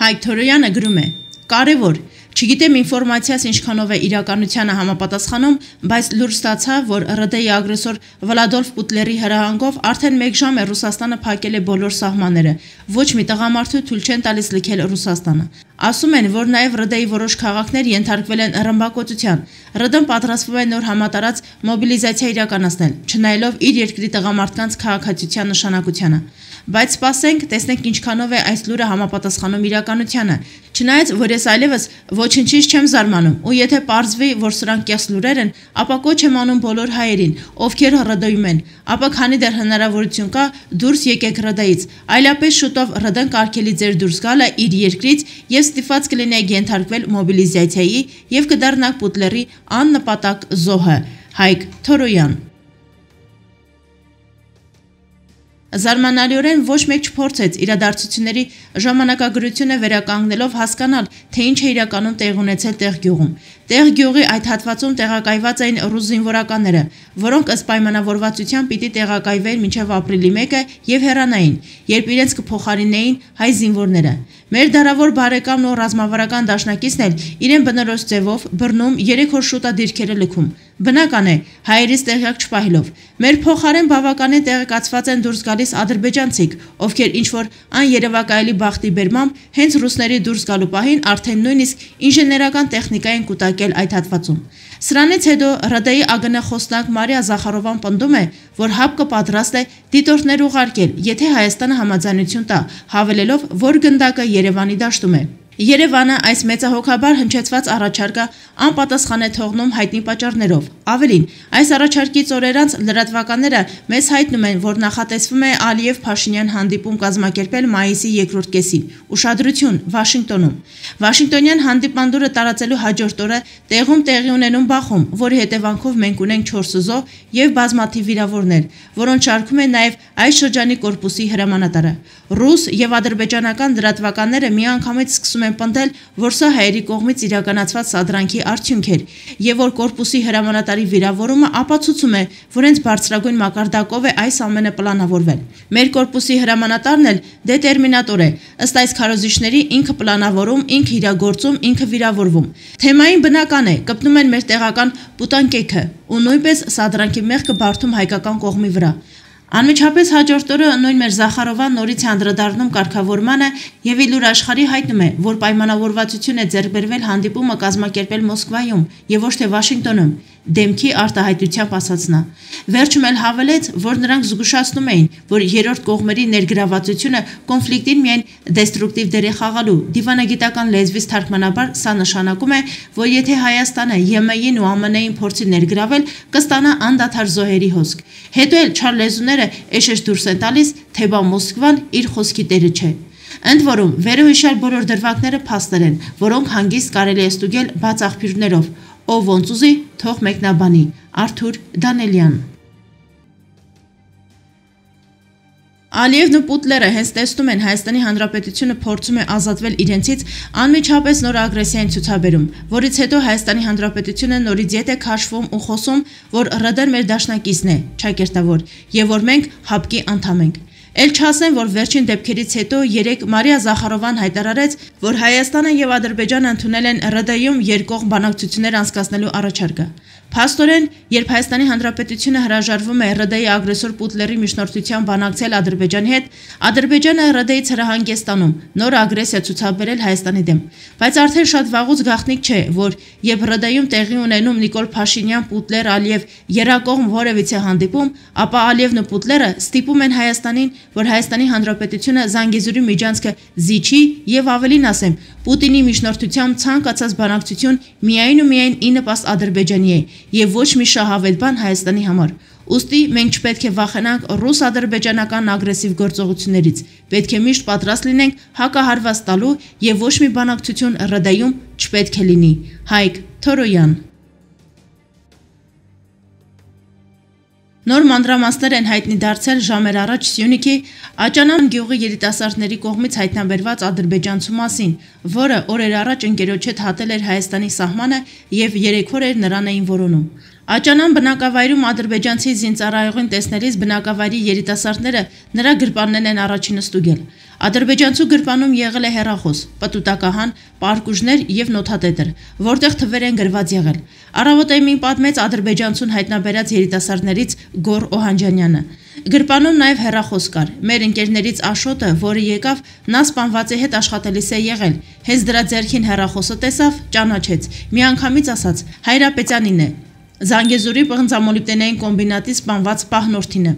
Հայկ Թորոյանը գրում է. «Կարևոր, չգիտեմ ինֆորմացիաս ինչքանով է իրականությանը համապատասխանում, բայց լուր ստացա, որ ՌԴ-ի ագրեսոր Վլադոլֆ Պուտլերի հրահանգով արդեն 1 ժամ է Ռուսաստանը փակել է բոլոր սահմանները, ոչ մի տղամարդու թույլ չեն տալիս լքել Ռուսաստանը։ Ասում են, որ նաև ՌԴ-ի որոշ քաղաքներ ենթարկվել են ռմբակոծության։ ՌԴ-ն պատրաստվում է նոր համատարած մոբիլիզացիա իրականացնել, չնայելով իր երկրի տղամարդկանց քաղաքացիության նշանակությանը։ Բայց սպասենք, տեսնենք ինչքանով է այս լուրը համապատասխանում իրականությանը։ Չնայած, որ ես այլևս ոչնչից չեմ զարմանում, ու եթե պարզվի, որ սրանք կեղծ լուրեր են, ապա կոչ եմ անում բոլոր հայերին, ովքեր ՌԴ-ում են, ապա քանի դեռ հնարավորություն կա, դուրս եկեք ՌԴ-ից, այլապես շուտով ՌԴ-ն կարգելի ձեր դուրս գալը իր երկրից եւ ստիպված կլինեք ենթարկվել մոբիլիզացիայի եւ կդառնաք Պուտլերի աննպատակ զոհը։ Հայկ Թորոյան։ Զարմանալիորեն ոչ մեկ չփորձեց իրադարձությունների ժամանակագրությունը վերականգնելով հասկանալ, թե ինչ է իրականում տեղի ունեցել Տեղ-գյուղում։ Տեղ-գյուղի այդ հատվածում տեղակայված էին ռուս զինվորականները, որոնք ըստ պայմանավորվածության պիտի տեղակայվեին մինչև ապրիլի 1-ը եւ հեռանային, երբ իրենց կփոխարինեին հայ զինվորները։ Մեր դարավոր բարեկամն ու ռազմավարական դաշնակիցն էլ իրեն բնորոշ ձևով բռնում 3 օր շուտ է դիրքերը լքում։ Բնական է, հայերից տեղյակ չպահելով։ Մեր փոխարեն բավականին տեղեկացված են դուրս գալիս ադրբեջանցիք, ովքեր ինչ-որ աներևակայելի բախտի բերմամբ հենց ռուսների դուրս գալու պահին արդեն նույնիսկ ինժեներական տեխնիկա են կուտակել այդ հատվածում։ Սրանից հետո ՌԴ-ի ԱԳՆ խոսնակ Մարիա Զախարովան պնդում է, որ ՀԱՊԿ պատրաստ է դիտորդներ ուղարկել, եթե Հայաստանը համաձայնություն տա, հավելելով, որ գնդակը Երևանի դաշտում է։ Երևանը այս մեծահոգաբար հնչեցված առաջարկը անպատասխան է թողնում հայտնի պատճառներով։ Ավելին, այս առաջարկից օրեր անց լրատվականները մեզ հայտնում են, որ նախատեսվում է Ալիև-Փաշինյան հանդիպում կազմակերպել մայիսի 2-րդ կեսին։ Ուշադրություն, Վաշինգտոնում։ Վաշինգտոնյան հանդիպանդուրը տարածելու հաջորդ օրը տեղում տեղի ունենում Բախում, որի հետևանքով մենք ունենք 4 զոհ եւ բազմաթիվ վիրավորներ, որոնց շարքում է նաեւ այս շրջանի կորպուսի հրամանատարը։ Ռուս եւ ադրբեջանական լրատվականները միանգամից սկսում են պնդել, որ սա հայերի կողմից իրականացված սադրանքի արդյունք էր, եւ որ կորպուսի հրամանատարի վիրավորումը ապացուցում է, որ հենց բարձրագույն մակարդակով է այս ամենը պլանավորվել։ Մեր կորպուսի հրամանատարն էլ դետերմինատոր է, ըստ այս քարոզիչների ինքը պլանավորում, ինքը իրագործում, ինքը վիրավորվում։ Թեմային բնական է, կպնում են մեր տեղական պուտանկեքը ու նույնպես սադրանքի մեղքը բարդում հայկական կողմի վրա։ Անմիջապես հաջորդ օրը նույն մեր Զախարովան նորից անդրադառնում կարգավորմանը եւ իլուր աշխարհի հայտնում է, որ պայմանավորվածություն է ձեռք բերվել հանդիպումը կազմակերպել Մոսկվայում եւ ոչ թե Վաշինգտոնում, դեմքի արտահայտությամբ ասաց նա։ Վերջում էլ հավելեց, որ նրանք զգուշացնում էին, որ երրորդ կողմերի ներգրավվածությունը կոնֆլիկտին միայն դեստրուկտիվ դեր է խաղալու։ Դիվանագիտական լեզվից թարգմանաբար սա նշանակում է, որ եթե Հայաստանը ԵՄ-ին ու ԱՄՆ-ին փորձի ներգրավել, կստանա անդադար զոհերի հոսք։ Հետո էլ չար լեզուները էշեշ դուրս են տալիս, թե բա Մոսկվան իր խոսքի տերը չէ։ Ընդ որում, վերոհիշյալ բոլոր դրվագները փաստեր են, որոնք հանգիստ կարելի է ստուգել բաց աղբյուրներով։ Ով ոնց ուզի, թող մեկնաբանի։ Արթուր Դանելյան։ Ալիևն ու Պուտլերը հենց տեսնում են Հայաստանի Հանրապետությունը փորձում է ազատվել իրենցից անմիջապես նոր ագրեսիային ցուցաբերում, որից հետո Հայաստանի Հանրապետությունը նորից ետ է քաշվում ու խոսում, որ ՌԴ-ն մեր դաշնակիցն է, ճակերտավոր, եւ որ մենք ՀԱՊԿ-ի անդամ ենք։ Էլ չասեմ, որ վերջին դեպքերից հետո երեկ Մարիա Զախարովան հայտարարեց, որ Հայաստանը եւ Ադրբեջանը ընդունել են ՌԴ-ում երկկողմ բանակցություններ անցկացնելու առաջարկը։ Փաստորեն, երբ Հայաստանի Հանրապետությունը հրաժարվում է ՌԴ-ի ագրեսոր Պուտլերի միջնորդությամբ բանակցել Ադրբեջանի հետ, Ադրբեջանը ՌԴ-ից հրահանգ է ստանում նոր ագրեսիա ցուցաբերել Հայաստանի դեմ։ Բայց արդեն շատ վաղուց գաղտնիք չէ, որ երբ ՌԴ-ում տեղի ունենում Նիկոլ Փաշինյան, Պուտլեր, Ալիև երակողմ որևիցե հանդիպում, ապա Ալիևն ու Պուտլերը ստիպում են Հայաստանին, որ Հայաստանի Հանրապետությունը Զանգեզուրի միջանցքը զիջի եւ ավելին ասեմ, Պուտինի միջնորդությամբ ցանկացած բանակցություն միայն ու միայն ի նպաստ Ադրբեջանի է եւ ոչ մի շահավետ բան Հայաստանի համար։ Ուստի մենք չպետք է վախենանք ռուս-ադրբեջանական ագրեսիվ գործողություններից, պետք է միշտ պատրաստ լինենք հակահարված տալու եւ ոչ մի բանակցություն ՌԴ-ում չպետք է լինի։ Հայկ Թորոյան։ Նոր մանրամասներ են հայտնի դարձել ժամեր առաջ Սյունիքի Աճանան գյուղի երիտասարդների կողմից հայտնաբերված ադրբեջանցու մասին, որը օրեր առաջ ընկերոջ հետ հատել էր Հայաստանի սահմանը եւ 3 օր էր նրան էին որոնում։ Աճանան բնակավայրում ադրբեջանցի զինծառայողին տեսնելիս բնակավայրի երիտասարդները նրա գրպաններն են առաջինը ստուգել։ Ադրբեջանցու գրպանում եղել է հեռախոս, պտուտակահան, պարկուժներ եւ նոթատետր, որտեղ թվեր են գրված եղել։ Առավոտեմին պատմեց ադրբեջանցուն հայտնաբերած երիտասարդներից Գոր Օհանջանյանը։ Գրպանում նաև հեռախոս կար։ Մեր ընկերներից Աշոտը, որը եկավ, նա սպանվածի հետ աշխատելիս է եղել։ Հենց դրա ձեռքին հեռախոսը տեսավ, ճանաչեց։ Միանգամից ասաց. Հայրապետյանին է։ Զանգեզուրի պղնձամոլիբդենային կոմբինատի սպանված պահնորդին է,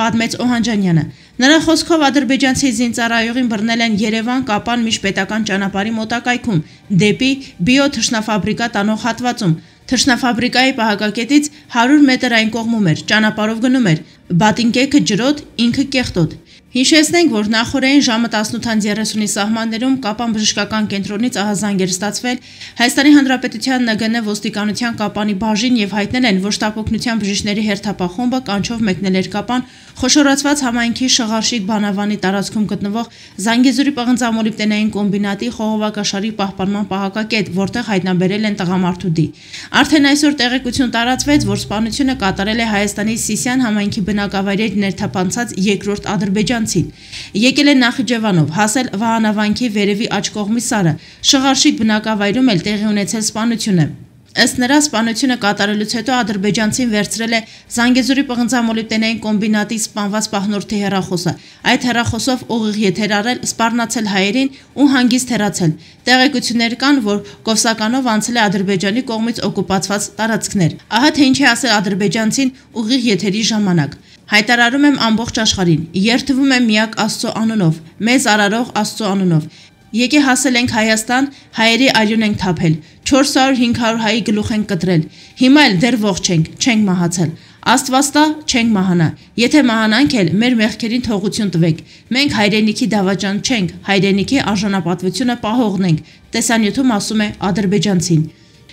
պատմեց Օհանջանյանը։ Նրա խոսքով ադրբեջանցի զինծառայողին բռնել են Երևան-Կապան միջպետական ճանապարհի մոտակայքում, դեպի բիոթշնաֆաբրիկա տանող հատվածում։ Թշնաֆաբրիկայի պահակակետից 100 մետր այն կողմում էր, ճանապարհով գնում էր, բատինկեքը ջրոտ, ինքը կեղտոտ։ Հիշեցնենք, որ նախորդային ժամը 18:30-ի սահմաններում Կապան բժշկական կենտրոնից ահազանգ էր ստացվել Հայաստանի Հանրապետության ՆԳՆ ոստիկանության Կապանի բաժին եւ հայտնել են, որ շտապօգնության բժիշկների հերթապահ խումբը կանչով մեկնել էր Կապան խոշորացված համայնքի Շղարշիկ բանավանի տարածքում գտնվող Զանգեզուրի պղնձամոլիբդենային կոմբինատի խողովակաշարի պահպանման պահակակետ, որտեղ հայտնաբերել են տղամարդու դի։ Արդեն այսօր տեղեկություն տարածվեց, որ սպանությունը կատարել է Հայաստանի Սիսիան համայնքի բնակավայրեր ներթափանցած երկրորդ ադրբեջանցին։ Եկել է Նախիջևանով, հասել Վահանավանքի վերևի աջ կողմի Սարը, Շղարշիկ բնակավայրում էլ տեղի ունեցել սպանությունը։ Ըստ նրա, սպանությունը կատարելուց հետո ադրբեջանցին վերցրել է Զանգեզուրի պղնձամոլիբդենային կոմբինատի սպանված պահնորդի հեռախոսը։ Այդ հեռախոսով ուղիղ եթեր արել, սպառնացել հայերին ու հանգիստ հեռացել։ Տեղեկություններ կան, որ Կովսականով անցել է Ադրբեջանի կողմից օկուպացված տարածքներ։ Ահա թե ինչ է ասել ադրբեջանցին ուղիղ եթերի ժամանակ։ Հայտարարում եմ ամբողջ աշխարհին, երդվում եմ միակ Աստծո անունով, մեզ արարող Աստծո անունով։ Եկե հասել ենք Հայաստան, հայերի արյուն ենք թափել, 400-500 հայի գլուխ ենք կտրել, հիմա էլ դեռ ողջ չենք մահացել, Աստված տա չենք մահանա, եթե մահանանք էլ մեր մեղքերին թողություն տվեք, մենք հայրենիքի դավաճան չենք, հայրենիքի արժանապատվությունը պահողն ենք, տեսանյութում ասում է ադրբեջանցին։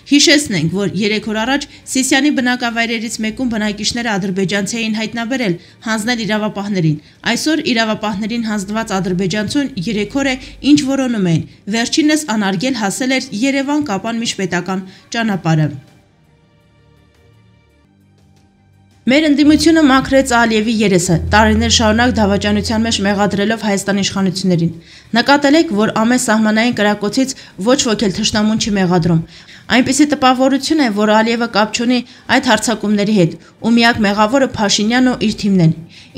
Հիշեցնենք, որ 3 օր առաջ Սիսիանի բնակավայրերից մեկում բնակիչները ադրբեջանցի էին հայտնաբերել, հանձնել իրավապահներին։ Այսօր իրավապահներին հանձնված ադրբեջանցուն 3 օր է ինչ որոնում էին։ Վերջինս անարգել հասել էր Երևան-Կապան միջպետական ճանապարհը։ Մեր ընդդիմությունը մաքրեց Ալիևի երեսը, տարիներ շարունակ դավաճանության մեջ մեղադրելով Հայաստանի իշխանություններին։ Նկատել եք, որ ամեն սահմանային կրակոցից ոչ ոք էլ թշնամուն չի մեղադրում։ Այնպիսի տպավորություն է, որ Ալիևը կապ չունի այդ հարձակումների հետ, ու միակ մեղավորը Փաշինյանն ու իր թիմն են։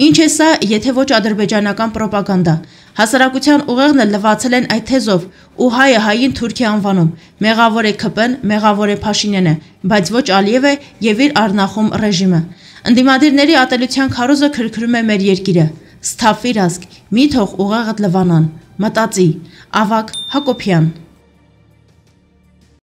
Ինչ է սա, եթե ոչ ադրբեջանական ռոպագանդա։ Հասարակության ուղեղն էլ լվացել են այդ թեզով, ու հայը հային Թուրքիա անվանում։ Մեղավոր է ՔՊ-ն, մեղավոր է Փաշինյանը, բայց ոչ Ալիևը եւ իր առնախում ռեժիմը։ Ընդդիմադիրների ատելության քարոզը քրքրում է մեր երկիրը։ Սթափվիր ազգ, մի թող ուղեղդ լվանան, մտածի, Ավագ Հակոբյան։